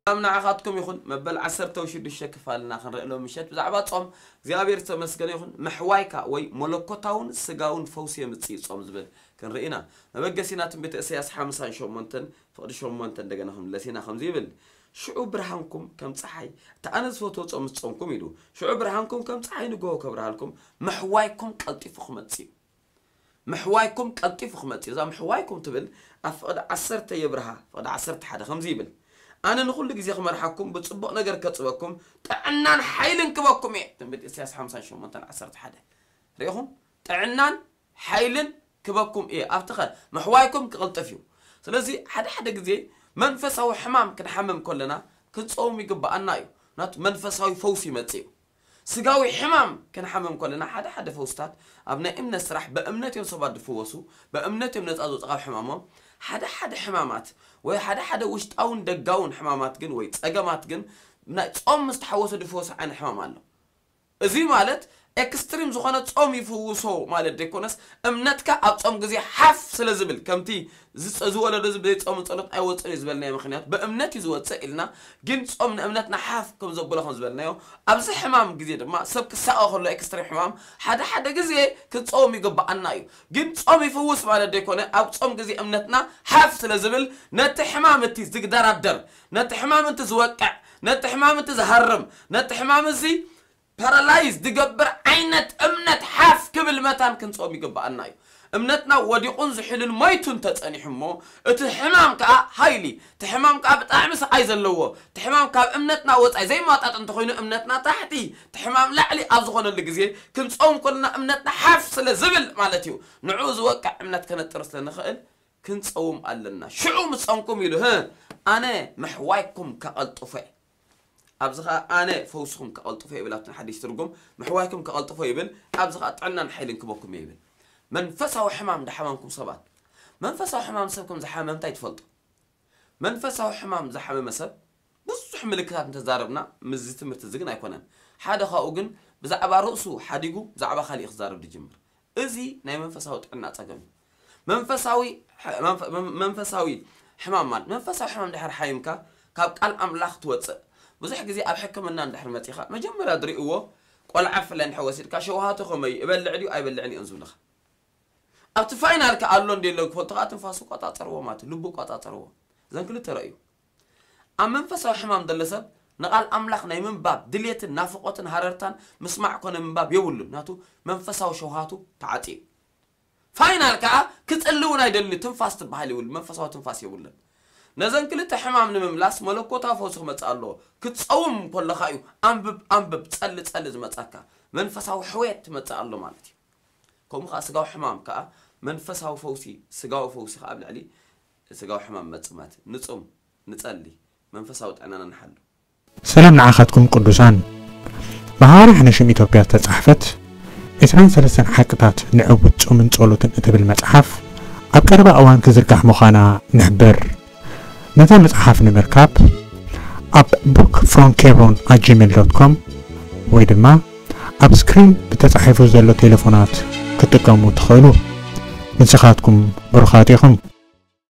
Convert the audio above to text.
ሰላም ንዓኻትኩም ይኹን። መበል ዓሰርተ ሽዱሽተ ክፋልና ክንርኢ ሎም ምሸት ብዛዕባ ጾም እግዚኣብሔር ዝተመስገነ ይኹን። ምሕዋይካ ወይ መለኮታውን ስጋውን ፈውሲ የምጽእ ጾም ዝብል ክንርኢ ኢና። መበገሲና ትንቢት እሰያስ ሓምሳን ሸሞንተን ፍቕዲ ሸሞንተ እንደገና ክንምለስ ኢና። ከምዚ ይብል፣ ሽዑ ብርሃንኩም ከም ጸሓይ፣ እቲ ኣነ ዝፈትዎ ጾም ምስ ጾምኩም ኢሉ፣ ሽዑ ብርሃንኩም ከም ጸሓይ ንግሆ ከብርሃልኩም፣ ምሕዋይኩም ቀልጢፉ ክመጽእ እዩ። ምሕዋይኩም ቀልጢፉ ክመጽእ እዩ። እዛ ምሕዋይኩም ትብል ኣብ ፍቕዲ ዓሰርተ የብርሃ፣ ፍቕዲ ዓሰርተ ሓደ ከምዚ ይብል፣ ኣነ ንኹሉ ግዜ ክመርሓኩም፣ ብጽቡቕ ነገር ከጽበኩም፣ ጥዕናን ሓይልን ክበኩም እየ። ትንቢት ኢሳያስ ሓምሳን ሸሞንተን ዓሰርተ ሓደ። ርኢኹም? ጥዕናን ሓይልን ክበኩም እየ። ኣብቲ ኸ ምሕዋይኩም ክቕልጥፍ እዩ። ስለዚ ሓደ ሓደ ግዜ መንፈሳዊ ሕማም ክንሓምም ከለና ክንጸውም ይግብኣና እዩ። ናቱ መንፈሳዊ ፈውሲ ይመጽእ እዩ። ስጋዊ ሕማም ክንሓምም ከለና ሓደ ሓደ ፈውስታት ኣብ ናይ እምነት ስራሕ ብእምነት እዮም ሰባት ዝፍወሱ፣ ብእምነት እዮም ነጻ ዝወጹ ካብ ሕማሞም። ሓደ ሓደ ሕማማት ወይ ሓደ ሓደ ውሽጣውን ደጋውን ሕማማት ግን ወይ ጸገማት ግን ናይ ጾም ምስ ተሓወሰ ዝፍወሱ ዓይነት ሕማም ኣሎ። እዚ ማለት ኤክስትሪም ዝኾነ ጾም ይፍውሶ ማለት ዘይኮነስ፣ እምነትካ ኣብ ጾም ግዜ ሓፍ ስለ ዝብል፣ ከምቲ ዝጸ-፣ ዝወለዶ እዚ ብዘይ ጾምን ጸሎት ኣይወጽእን እዩ ዝበልናዮ ምኽንያት ብእምነት እዩ ዝወጽእ ኢልና፣ ግን ጾም ንእምነትና ሓፍ ከም ዘብሎ ከም ዝበልናዮ፣ ኣብዚ ሕማም ግዜ ድማ ሰብ ክሳቐ ከሎ ኤክስትሪም ሕማም ሓደ ሓደ ግዜ ክንጸውም ይግብኣና እዩ። ግን ጾም ይፍውስ ማለት ዘይኮነ፣ ኣብ ጾም ግዜ እምነትና ሓፍ ስለ ዝብል፣ ነቲ ሕማም እቲ ዝግደራደር፣ ነቲ ሕማም እቲ ዝወቅዕ፣ ነቲ ሕማም እቲ ዝሃርም፣ ነቲ ሕማም እዚ ፓራላይዝ ዝገብር ዓይነት እምነት ሓፍ ክብል መታን ክንጾም ይግብኣና እዩ። እምነትና ወዲቑን ዝሕሉን ሞይቱን ተጸኒሑ እሞ፣ እቲ ሕማም ከኣ ሃይሊ፣ እቲ ሕማም ከኣ ብጣዕሚ ስቓይ ዘለዎ፣ እቲ ሕማም ካብ እምነትና ወጻኢ ዘይማጣጥ እንተኾይኑ፣ እምነትና ታሕቲ፣ እቲ ሕማም ላዕሊ ኣብ ዝኾነሉ ግዜ፣ ክንጾም ከለና እምነትና ሓፍ ስለ ዝብል ማለት እዩ። ንዕኡ ዝወቅዕ እምነት ከነጥር ስለ ንኽእል፣ ክንጸውም ኣለና። ሽዑ ምስ ጸምኩም ኢሉ፣ ህ፣ ኣነ ምሕዋይኩም ከቐልጥፎ እየ። ኣብዚ ኸኣ ኣነ ፈውስኹም ከቐልጥፎ ይብል። ኣብቲ ሓድሽ ትርጉም ምሕዋይኩም ከቐልጥፎ ይብል። ኣብዚ ኸኣ ጥዕናን ሓይልን ክበኩም እየ ይብል። መንፈሳዊ ሕማም ዝሓመምኩም ሰባት፣ መንፈሳዊ ሕማም ሰብ ከም ዝሓመመ እንታይ ትፈልጡ? መንፈሳዊ ሕማም ዝሓመመ ሰብ ብዙሕ ምልክታት እንተዛረብና ምስዚ ትምህርቲ እዚ ግን ኣይኮነን። ሓደ ካብኡ ግን ብዛዕባ ርእሱ ሓዲጉ ብዛዕባ ካሊእ ክዛረብ ዝጅምር። እዚ ናይ መንፈሳዊ ጥዕና ጸገም እዩ። መንፈሳዊ፣ መንፈ-፣ መንፈሳዊ ሕማም ማለት፣ መንፈሳዊ ሕማም ድሕር ሓሚምካ ካብ ቃል ኣምላኽ ትወጽእ። ብዙሕ ግዜ ኣብ ሕክምና እንድሕር መጺኻ፣ መጀመርያ ዝርእይዎ ቆልዓ ብፍላይ እንድሕር ወሲድካ፣ ሸውሃቱ ከመይ፣ እበልዕ ድዩ ኣይበልዕን እዩ ዝብልኻ። ኣብቲ ፋይናል ከ ኣሎ እንደ የለን ክፈልጡ ከኣ ትንፋሱ ቆጻጸርዎ ማለት እዩ፣ ልቡ ቆጻጸርዎ። እዘን ክልተ ረእዩ። ኣብ መንፈሳዊ ሕማም ዘሎ ሰብ ንቓል ኣምላኽ ናይ ምንባብ ድልየትን ናፍቖትን ሃረርታን ምስማዕ ኮነ ምንባብ የብሉን። ናቱ መንፈሳዊ ሸውሃቱ ተዓጽዩ። ፋይናል ከኣ ክጽሊ እውን ኣይደልን እዩ። ትንፋስ ትበሃል የብሉን። መንፈሳዊ ትንፋስ የብሉን። ነዘን ክልተ ሕማም ንምምላስ መለኮታዊ ፈውሲ ክመጽእ ኣለዎ። ክትጸውም ከለኻ እዩ ኣንብብ፣ ኣንብብ፣ ጸሊ፣ ጸሊ ዝመጻካ። መንፈሳዊ ሕውየት ትመጽእ ኣሎ ማለት እዩ። ከምኡ ከኣ ስጋዊ ሕማም ከኣ መንፈሳዊ ፈውሲ፣ ስጋዊ ፈውሲ ከኣ ኣብ ልዕሊ ስጋዊ ሕማም መጽእ ማለት እዩ። ንጹም፣ ንጸሊ፣ መንፈሳዊ ጥዕናና ንሓሉ። ሰላም ንዓኻትኩም ቅዱሳን። ብሃዋርያ ሓነሽም ኢትዮጵያ ዝተጻሕፈት ዕስራን ሰለስተን ሓቅታት ንዕውት ጾምን ጸሎትን እትብል መጽሓፍ ኣብ ቀረባ እዋን ክዝርጋሕ ምዃና ንሕብር። ነዛ መጽሓፍ ንምርካብ ኣብ book from kebron at gmail dot com ወይ ድማ ኣብ ስክሪን ብተጻሒፉ ዘሎ ቴሌፎናት ክትጥቀሙ ትኽእሉ። ንስኻትኩም ብሩኻት ኢኹም።